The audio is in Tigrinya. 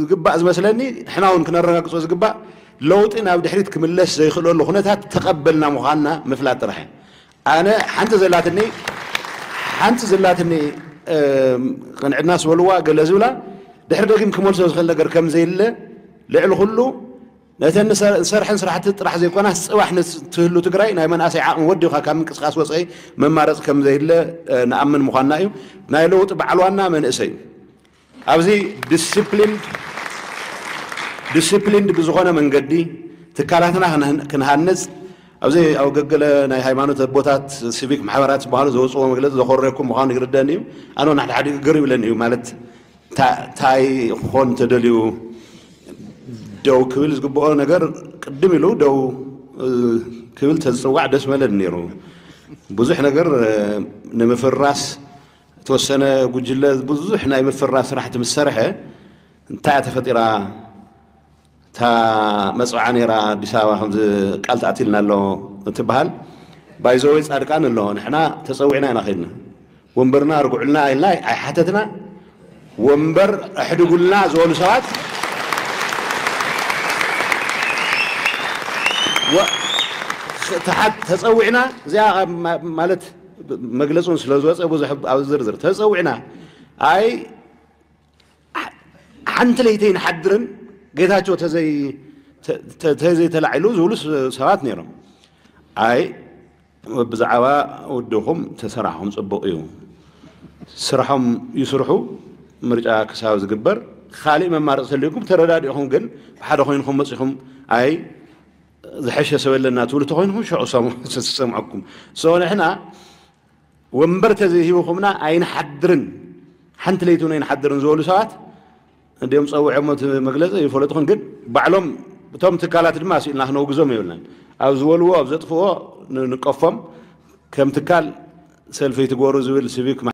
ዝግባእ ዝመስለኒ፣ ንሕና እውን ክነረጋግጾ ዝግባእ፣ ለውጢ ናብ ድሕሪት ክምለስ ዘይክእለሉ ኩነታት ተቐበልና ምዃንና ምፍላጥ ጥራሕ እዩ። ኣነ ሓንቲ ዘላትኒ ሓንቲ ዘላትኒ፣ እም፣ ቅንዕድና ዝበልዋ ገለ ዝብላ፣ ድሕሪ ደጊም ክመልሶ ዝኽእል ነገር ከም ዘየለ፣ ልዕሊ ኩሉ ነተን ንሰ-፣ ንሰርሐን ስራሕቲ ጥራሕ ዘይኮናስ፣ ጽባሕ ንትህሉ ትግራይ ናይ መናእሰይ ዓቕሚ ወዲኻ ካብ ምንቅስቃስ ወጻኢ መማረፂ ከም ዘየለ፣ እ፣ ንኣምን ምዃንና እዩ። ናይ ለውጢ በዓል ዋና መንእሰይ እዩ። ኣብዚ ዲስፕሊን፣ ዲስፕሊን ብዝኾነ መንገዲ ትካላትና ክንህ-፣ ክንሃንጽ፣ ኣብዚ ኣብ ገገለ ናይ ሃይማኖት ኣቦታት፣ ሲቪክ ማሕበራት ዝበሃሉ ዘውፅዎ መግለፂ ዘኾረኩም ምዃኑ ይርደን እዩ። ኣነ እውን ሓደ ሓደ ግር ይብለኒ እዩ። ማለት፣ ታ-፣ ታይ ክኾን ተደልዩ፣ ደው ክብል ዝግብኦ ነገር ቅድም ኢሉ ደው፣ እ፣ ክብል ተዝጽዋዕ ደስ መለን ነይሩ። ብዙሕ ነገር፣ እ፣ ንምፍራስ፣ ዝተወሰነ ጉጅለ ብዙሕ ናይ ምፍራስ ስራሕቲ ምስ ሰርሐ፣ እንታይ እያ ተፈጢራ? እታ መጽውዓ ነይራ፣ ኣዲስ ኣበባ ከምዚ ቃል ተኣትልና ኣሎ እንትበሃል፣ ባይዘወይ ጻድቃን ኣሎ፣ ንሕና ተጸዊዕና ኢና ከድና። ወንበርና ኣርግዑልና ኢልና ኣይሓተትና። ወንበር ኣሕድጉልና ዝበሉ ሰባት፣ ወ-፣ ተሓት-፣ ተጸዊዕና፣ እዚኣ ኣብ ማ-፣ ማለት፣ መግለጹን ስለ ዝወጸ ብዙሕ ኣብ ዝርዝር ተጸዊዕና። ኣይ፣ ሓንቲ ለይቲ ኣይንሓድርን፣ ጌታቸው ተዘይ-፣ ተ-፣ ተ-፣ ተዘይተላዒሉ ዝብሉ ስ-፣ ሰባት ነይሮም። ኣይ፣ ብዛዕባ ውድኹም ተሰራሕኹም ጽቡቕ እዩ። ስራሖም ይስርሑ፣ ምርጫ ክሳብ ዝግበር፣ ካልእ መማረፂ ተልዩኩም ተረዳዲእኹም፣ ግን ብሓደ ኮይንኩም መፂኹም፣ ኣይ፣ ዝሐሸ ሰብ ኣለና ትብሉ ተኮይንኩም፣ ሽዑ ሰሙ-፣ ሰምዐኩም። So ንሕና ወንበር ተዘይሂብኹምና ኣይንሓድርን፣ ሓንቲ ለይቲ እውን ኣይንሓድርን ዝበሉ ሰባት እንዲኦም ጸዊዖሞ እቲ መግለጺ ይፈለጥኹን፣ ግን ባዕሎም እቶም ትካላት ድማ ስኢልና ክነውግዞም የብልናን። ኣብ ዝበልዎ፣ ኣብ ዘጥፍዎ ን-፣ ንቀፎም። ከም ትካል ሰልፊ ትጎሩ ዝብል ሲቪክ